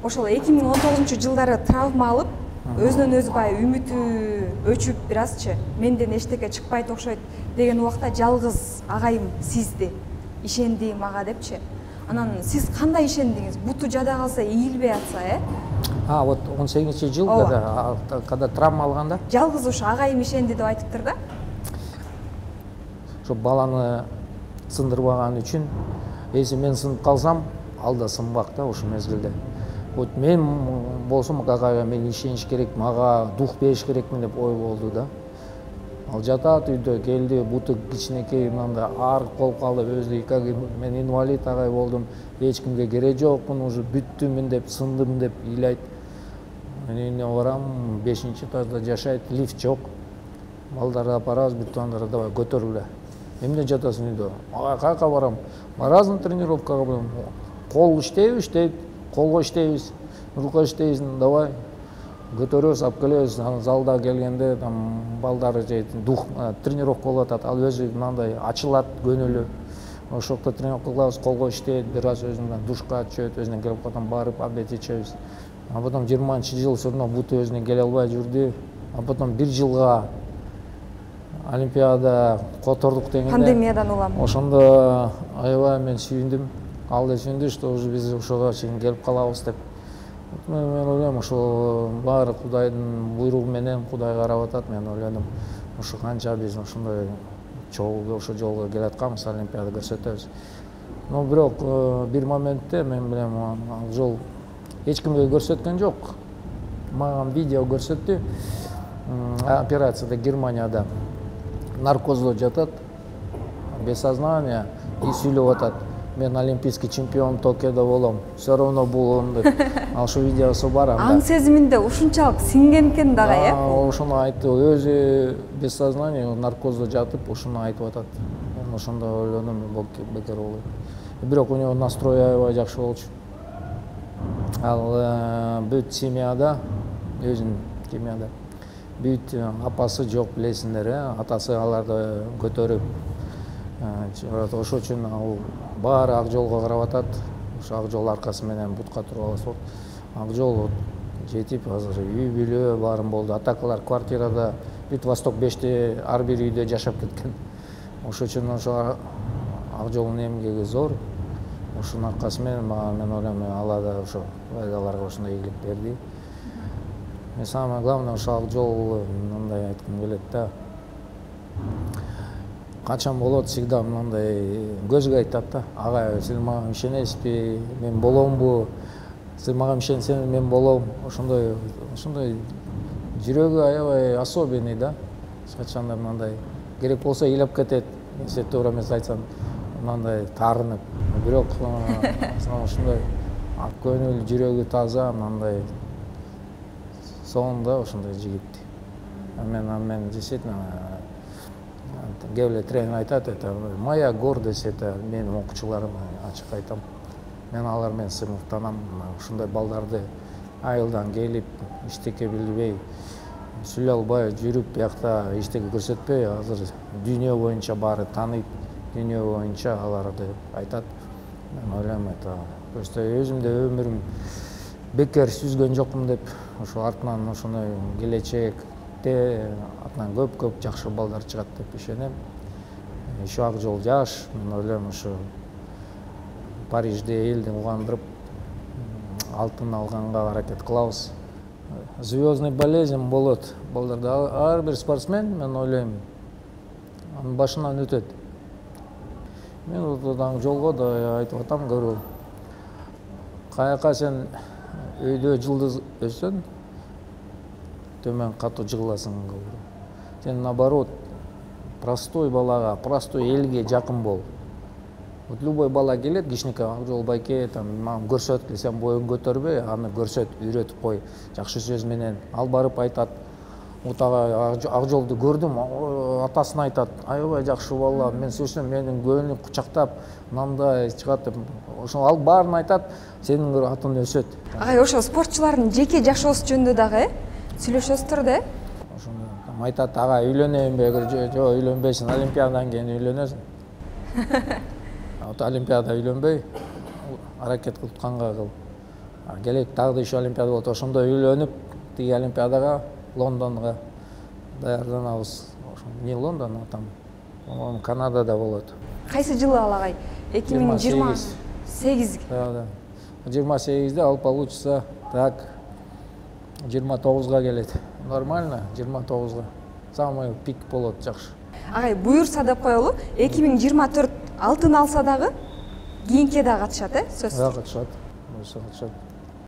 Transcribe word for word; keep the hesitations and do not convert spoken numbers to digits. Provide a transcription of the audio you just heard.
ошол эки миң он тогузунчу жылдары травма алып, өзүнөн өзү баягы үмүтү өчүп бир азчы менден эчтеке чыкпайт окшойт деген убакта жалгыз агайым сизди ишенди мага депчи. Анан сиз кандай ишендиңиз? Буту жада калса, ийилбей атса, э? А, вот он сегизинчи жыл, когда, когда травма алганда? Жалгыз ошо агайым ишенди деп айтыптыр да. Ошо баланы сындырбаган үчүн, эси мен сынып калсам, ал да сынбак да ошол мезгилде. Вот мен болсом агайга мен ишениш керек, мага дух бериш керекмин деп ой болду да. Ал жатат үйдө, келди, буту кичинекей мындай ар болуп калды, өзү как мен инвалид агай болдум, эч кимге кереги жокмун, уже бүттүмүн деп, сындым деп ыйлайт. Мен үйүнө барам, бешинчи этажда жашайт, лифт жок. Балдарды алып барабыз, бүт андарды давай көтөрүлө. Эмне жатасың үйдө? Агай каяка барам? Барасың тренировкага, кол иштейби, иштейт, колго иштейбиз, рука иштейбиз, давай. Көтөрөбүз, алып келебиз. Анан залда келгенде там балдары же дух тренировка болуп атат. Ал өзү мындай ачылат көңүлү. Ошокто тренировка кылабыз, колго иштейт, бир аз өзүнөн душка түшөт, өзүнөн келип калган барып обед ичебиз. А потом жыйырманчы жыл все равно буту өзүнөн келе албай жүрдү. А потом бир жылга Олимпиада котордук дегенде пандемиядан улам. Ошондо аябай мен сүйүндүм. Ал да сүйүндү, что уже биз ошого чейин келип калабыз деп. Мен ойлойм, ошо баары Кудайдын буйругу менен, Кудай карап атат. Мен ойлодум, ошо канча биз ошондой чогуу ошо жолго келатканбыз, Олимпиада көрсөтөбүз. Но бирок бир моментте мен билем, ал жол эч кимге көрсөткөн жок. Мага видео көрсөттү. Операцияда Германияда наркоздо жатат, без сознания, и сүйлөп атат. Мен олимпийский чемпион Токиодо болом. Все равно бул деп. Ал ошо видеосу бар анда. Аң сезиминде ушунчалык сиңген экен дагы, э? Ошону айтты, өзү без сознания наркоздо жатып, ошону айтып атат. Мен ошондо ойлодум, бекер болот. Бирок у него настрой аябай жакшы болчу. Ал бүт семьяда, өзүнүн семьяда бүт апасы жок, билесиңер, э? Атасы аларды көтөрүп, ошол үчүн ал баары ак жолго карап атат. Ошо ак жол аркасы менен бутка туруп алышат. Ак жол жетип, азыр үй бүлө баарын болду. Атакалар квартирада, бүт Восток беште ар бир үйдө жашап кеткен. Ошол үчүн ошо ак жолдун эмгеги зор. Ошонун аркасы менен мен ойлойм, Алла да ошо аларга ошондой ийгилик берди. И самое главное, ошо ак жол мындай айткым келет да. Качан болот, всегда мындай көзгө айтат да. Агай, сиз мага ишенесизби? Мен боломбу? Сиз мага ишенсеңиз мен болом. Ошондой, ошондой жүрөгү аябай особенный да. Качанда мындай керек болсо ыйлап кетет. Сен туура эмес айтсаң, мындай таарынып. Бирок ошондой ак көңүл, жүрөгү таза, мындай сонун да ошондой жигит. Мен мен действительно кээ бирок тренер айтат, это моя гордость, это менин окуучуларым, ачык айтам. Мен алар менен сыймыктанам. Ушундай балдарды айылдан келип, эчтеке билбей, сүйлөй албай жүрүп, биякта эчтеке көрсөтпөй, азыр дүйнө боюнча баары тааныйт, дүйнө боюнча аларды айтат. Мен ойлойм, это просто өзүмдө өмүрүм бекер сүзгөн жокмун деп, ошо артынан ошондой келечекте атынан көп-көп жакшы балдар чыгат деп ишенем. Еще ак жол жаш, мен ойлойм, ошо Парижде элди угандырып, алтын алганга аракет кылабыз. Звездный болезнь болот балдарда. Ар бир спортсмен, мен ойлойм, анын башынан өтөт. Мен ак жолго да айтып атам көрүп. Каяка сен өйдө жылдыз өссөң, төмөн катуу жыгыласың. Сен наоборот, простой балага, простой элге жакын бол. Вот любой бала келет, кичинекей ак жол байке, там мага көрсөт, сен боюң көтөрбөй, аны көрсөт, үйрөтүп кой, жакшы сөз менен. Ал барып айтат, вот ак жолду көрдүм, атасына айтат, аябай жакшы бала, мен сөзсөм менин көңүлүм кучактап, мындай чыгат деп. Ошол ал баарын айтат, сенин атың өсөт. Агай, ошо спортчулардын жеке жашоосу жөнүндө дагы сүйлөшөсүздөр да? Ошондо айтат, ага үйлөнөйүнбү? Жок, үйлөнбөйсүң, Олимпиададан кийин үйлөнөсүң. Вот Олимпиада үйлөнбөй, аракет кылып канга кыл. келек дагы да еще олимпиада болот, ошондо үйлөнүп тиги олимпиадага Лондонго даярданабыз. Не Лондон, а там по-моему Канадада болот. Кайсы жылы ал агай? эки миң жыйырма сегиз. Да, да. жыйырма сегизде ал получится так жыйырма тогузга келет. Нормально, жыйырма тогузга. Самый пик болот, жакшы. Агай, буюрса деп коелу, эки миң жыйырма төрт алтын алса дагы кийинке да катышат, э? Сөзсүз. Да, катышат. Буюрса катышат.